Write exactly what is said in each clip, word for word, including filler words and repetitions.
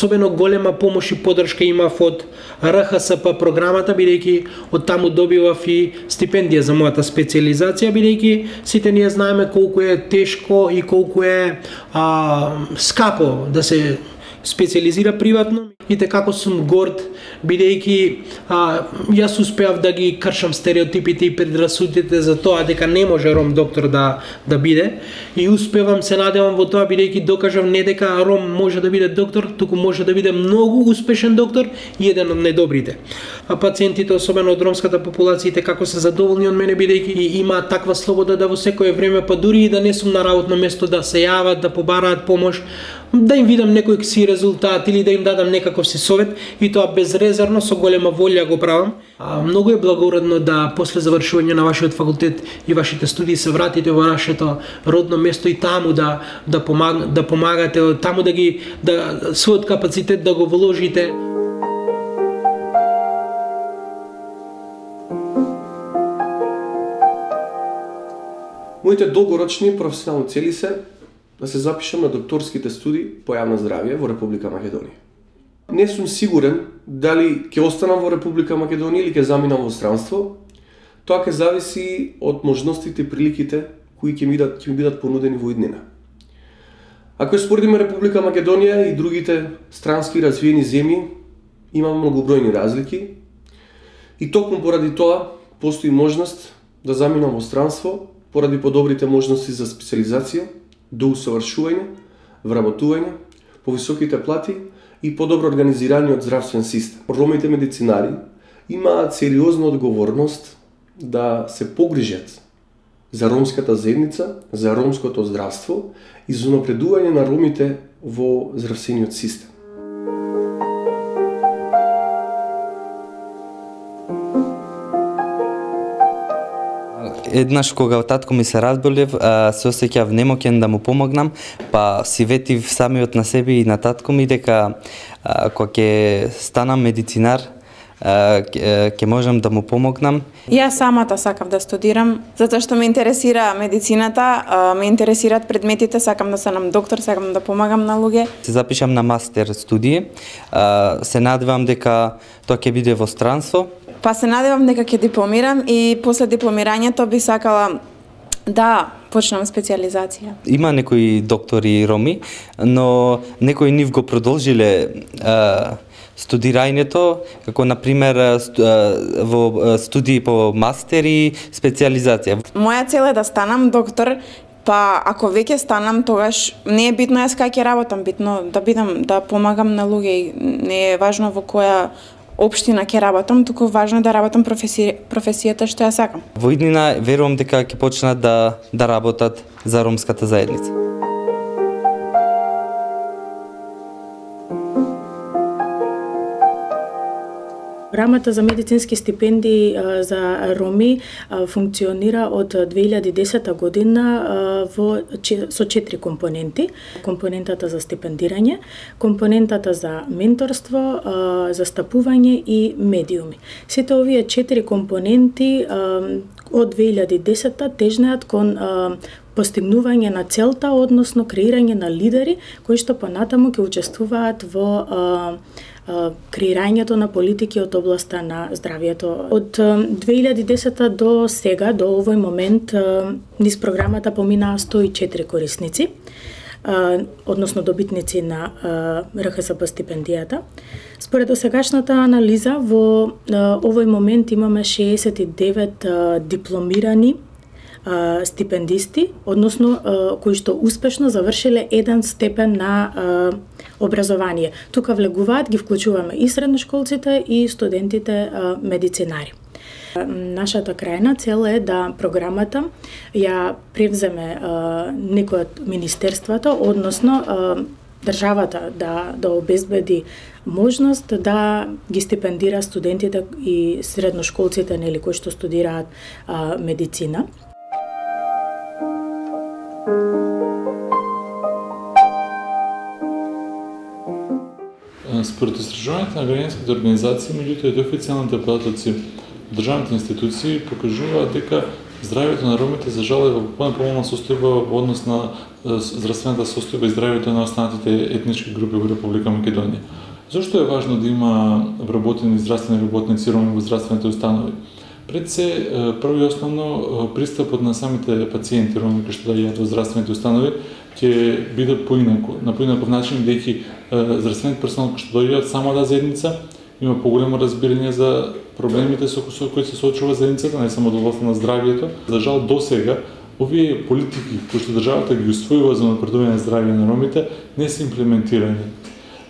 особено голема помош и поддршка имав од Р Х С П програмата, бидејќи од таму добивав и стипендија за мојата специјализација, бидејќи сите ние знаеме колку е тешко и колку е а, скапо да се специјализира приватно. И како сум горд, бидејќи јас успеав да ги кршам стереотипите и предрасудите за тоа дека не може ром доктор да да биде, и успевам, се надевам во тоа, бидејќи докажав не дека ром може да биде доктор, туку може да биде многу успешен доктор и еден од најдобрите. А пациентите, особено од ромската популација, како се задоволни од мене, бидејќи имаат таква слобода да во секое време, па дури и да не сум на работно место, да се јават, да побараат помош, да им видам некој си резултат или да им дадам некаков си совет, и тоа безрезервно, со голема волја го правам. А, многу е благородно да после завршување на вашиот факултет и вашите студии се вратите во нашето родно место и таму да да, помаг, да помагате, таму да ги да својот капацитет да го вложите. Моите долгорочни професионални цели се да се запишам на докторските студии по јавно здравје во Република Македонија. Не сум сигурен дали ќе останам во Република Македонија или ќе заминам во странство. Тоа ќе зависи од можностите и приликите кои ќе ми бидат, ќе ми бидат понудени во иднина. Ако споредиме Република Македонија и другите странски развиени земји, има многобројни разлики и токму поради тоа постои можност да заминам во странство поради подобрите можности за специјализација, до усовршување, вработување, повисоките плати и подобро организираниот здравствен систем. Ромите медицинари имаат сериозна одговорност да се погрижат за ромската заедница, за ромското здравство и за напредување на ромите во здравствениот систем. Еднаш кога татко ми се разболев, се осеќав немоќен да му помогнам, па си ветив самиот на себе и на татко ми дека кога ќе станам медицинар, ќе можам да му помогнам. Јас самата сакав да студирам, затоа што ме интересира медицината, ме интересираат предметите, сакам да станам доктор, сакам да помагам на луѓе. Се запишам на мастер студии, се надевам дека тоа ќе биде во странство. Па се надевам дека ќе дипломирам и после дипломирањето би сакала да почнам специјализација. Има некои доктори роми, но некои нив го продолжиле а, студирањето, како на пример во студии по мастер и специјализација. Моја цел е да станам доктор. Па ако веќе станам, тогаш не е битно јас кај ќе работам, битно да бидам, да помагам на луѓе. Не е важно во која општина ќе работам, туку важно е да работам професи... професијата што ја сакам. Во иднина верувам дека ќе почнат да да работат за ромската заедница. Програмата за медицински стипендии за роми функционира од две илјади и десета година во со четири компоненти. Компонентата за стипендирање, компонентата за менторство, застапување и медиуми. Сите овие четири компоненти од две илјади и десета тежнеат кон постигнување на целта, односно креирање на лидери кои што понатаму ќе учествуваат во креирањето на политики од областа на здравјето. Од две илјади и десета до сега, до овој момент, низ програмата поминаа сто и четири корисници, односно добитници на Р Х С П стипендијата. Според досегашната анализа, во овој момент имаме шеесет и девет дипломирани стипендисти, односно кои што успешно завршиле еден степен на образование. Тука влегуваат, ги вклучуваме и средношколците и студентите медицинари. Нашата крајна цел е да програмата ја превземе некој од министерствата, односно државата да да обезбеди можност да ги стипендира студентите и средношколците, нели, кои што студираат а, медицина. Според истражувањето на граѓанските организации, меѓутоа и официјалните податоци државните институции покажуваат дека здравјето на ромите за жал е во понеполна состојба во однос на здравствената состојба и здравјето на останатите етнички групи во Република Македонија. Зошто е важно да има вработени здравствени работници роми во здравствените установи? Пред се, прво и основно, пристапот на самите пациенти роми кои што доаѓаат во здравствените установи ќе биде поинаку, на поинаков начин, бидејќи здравствениот персонал кој што доаѓаат само да заедница има поголемо разбирање за проблемите со кои се соочува заедницата, не само до областа на здравјето. За жал досега овие политики кои што државата ги усвојува за напредување на здравје на ромите не се имплементирани.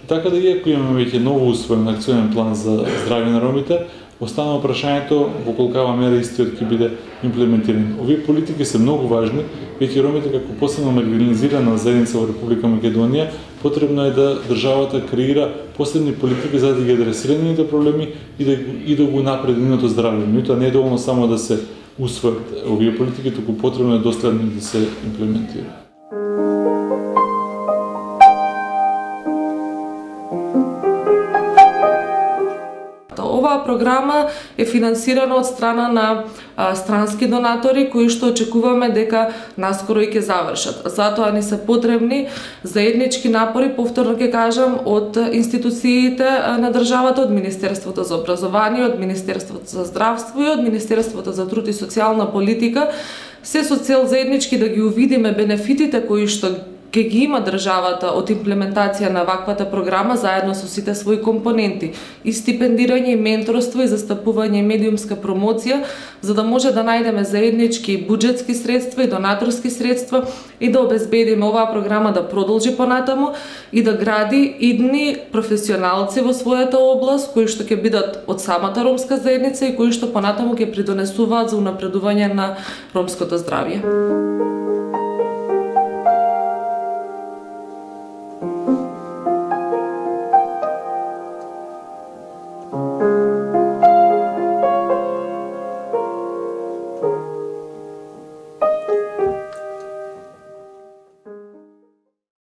Така да иако имаме веќе ново усвоен акционен план за здравје на ромите, останува прашањето во колкава мера истиот ќе биде имплементиран. Овие политики се многу важни, веќе ромите како посебно маргинализирана заедница во Република Македонија, потребно е да државата креира посебни политики за да ги адресира нивните проблеми и да и да го напреди нивното здравје. Меѓутоа не е доволно само да се усвојат овие политики, туку потребно е доследно да се имплементира. Оваа програма е финансирана од страна на а, странски донатори кои што очекуваме дека наскоро и ќе завршат. Затоа ни се потребни заеднички напори, повторно ќе кажам, од институциите на државата, од Министерството за образование, од Министерството за здравство и од Министерството за труд и социјална политика, се со цел заеднички да ги увидиме бенефитите кои што ќе ги има државата од имплементација на ваквата програма заедно со сите своји компоненти и стипендирање и менторство и застапување и медиумска промоција, за да може да најдеме заеднички буџетски средства и донаторски средства и да обезбедиме оваа програма да продолжи понатаму и да гради идни професионалци во својата област кои што ќе бидат од самата ромска заедница и кои што понатаму ќе придонесуваат за унапредување на ромското здравје.